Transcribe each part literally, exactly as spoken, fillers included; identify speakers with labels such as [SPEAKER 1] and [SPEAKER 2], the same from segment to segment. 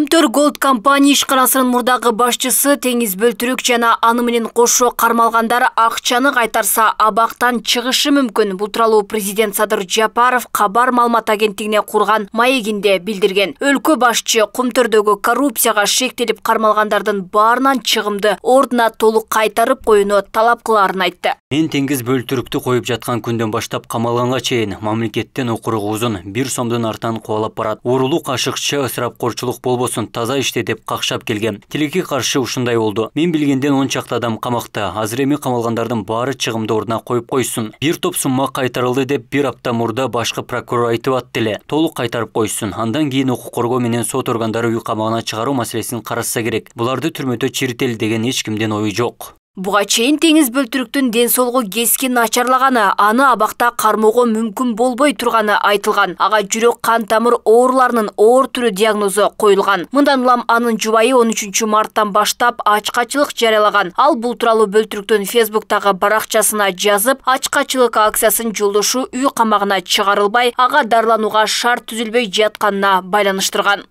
[SPEAKER 1] Кумтөр Голд компания ишканасынын мурдагы башчысы Теңиз Бөлтүрүк жана аны менен кошо кармалгандар акчаны кайтарса абактан чыгышы мүмкүн. Бул тууралуу президент Садыр Жапаров кабар маалымат агенттигине курган маегинде билдирген. Өлкө башчы Кумтөрдөгү коррупцияга шектелип кармалгандардын баарынан чыгымды ордуна толук кайтарып коюуну талап кылаарын айтты.
[SPEAKER 2] Мен Теңиз Бөлтүрүктү коюп жаткан күндөн баштап камалганга чейин мамлекеттен окуругу узун бир сомдун артынан кубалап барат. Уурулук, ашыкча, ысырапкорчулук болбосун, таза иште деп какшап келген. Тилекке каршы ушундай болду. Мен билгенден он чакты адам камакта. Азыр эми камалгандардын баары чыгымды ордуна коюп койсун. Бир топ сумма кайтарылды деп бир апта мурда башкы прокурор айтып атты эле. Толук кайтарып койсун. Андан кийин укук коргоо менен сот органдары үй камагына чыгаруу маселесин карашса керек. Буларды түрмөдө чирители деген эч кимдин ою жок.
[SPEAKER 1] Буга чейин Теңиз Бөлтүрүктүн ден соолугу кескин начарлаганы, аны абакта кармоого мүмкүн болбой турганы айтылган. Ага жүрөк кан тамыр ооруларынын оор түрү диагнозу коюлган. Мындан улам анын жубайы он үчүнчү марттан баштап ачкачылык жарыялаган. Ал бул тууралуу Бөлтүрүктүн Фейсбуктагы баракчасына жазып, ачкачылык акциясын жолдошу үй камагына чыгарылбай, ага дарыланууга шарт түзүлбөй жатканына байланыштырган.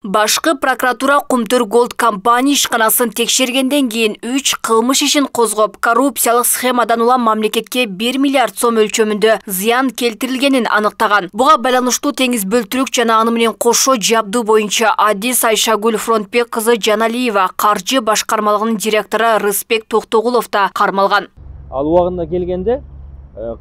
[SPEAKER 1] Башкы прокуратура Кумтөр Голд компания ишканасын текшергенден кийин үч кылмыш ишин козгоп, коррупциялык схемадан улам мамлекетке бир миллиард сом өлчөмүндө зыян келтирилгенин аныктаган. Буга байланыштуу Теңиз Бөлтүрүк жана аны менен кошо жабдуу боюнча Адис Айшагүл Фронтбек кызы Жаналиева, каржы башкармалыгынын директору Рыспек Токтогулов да кармалган.
[SPEAKER 3] Ал убагында келгенде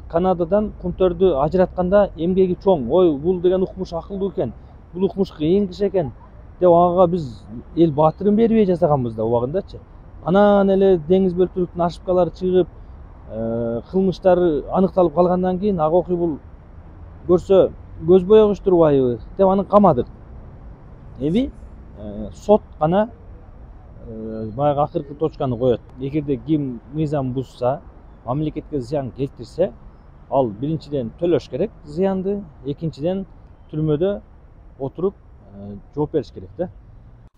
[SPEAKER 3] Канададан Кумтөрдү ажыратканда эмгеги чоң. Ой, бул деген укмуш акылдуу экен. Бул укмуш кыйын киши экен деп ага биз эл баатырын бербей жасаганбыз да убагындачы. Анан эле Теңиз Бөлтүрүктүн ошибкалары чыгып, кылмыштары аныкталып калгандан кийин ага окуй бул көрсө көз боегуч турбайбы деп аны камадык. Эми сот гана баягы акыркы точканы коет. Эгерде ким мыйзам бузса, мамлекетке зыян келтирсе, ал биринчиден төлөш керек зыянды, экинчиден түрмөдө отуруп жооп бериш керек да.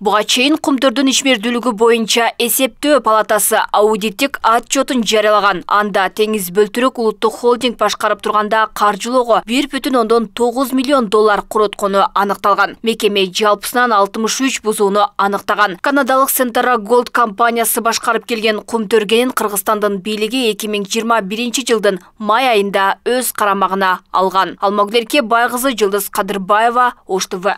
[SPEAKER 1] Буга чейин Кумтөрдүн ишмердүүлүгү боюнча эсептөө палатасы аудиттик отчетун жарыялаган. Анда Теңиз Бөлтүрүк улуттук холдинг башкарып турганда каржылоого бир бүтүн ондон тогуз миллион доллар короткону аныкталган. Мекеме жалпысынан алтымыш үч бузууну аныктаган. Канадалык Сентара Голд компаниясы башкарып келген Кумтөргенин Кыргызстандын бийлиги эки миң жыйырма биринчи жылдын май айында өз карамагына алган. Алмагүл Байкызы, Жылдыз Кадырбаева, Ош Т В.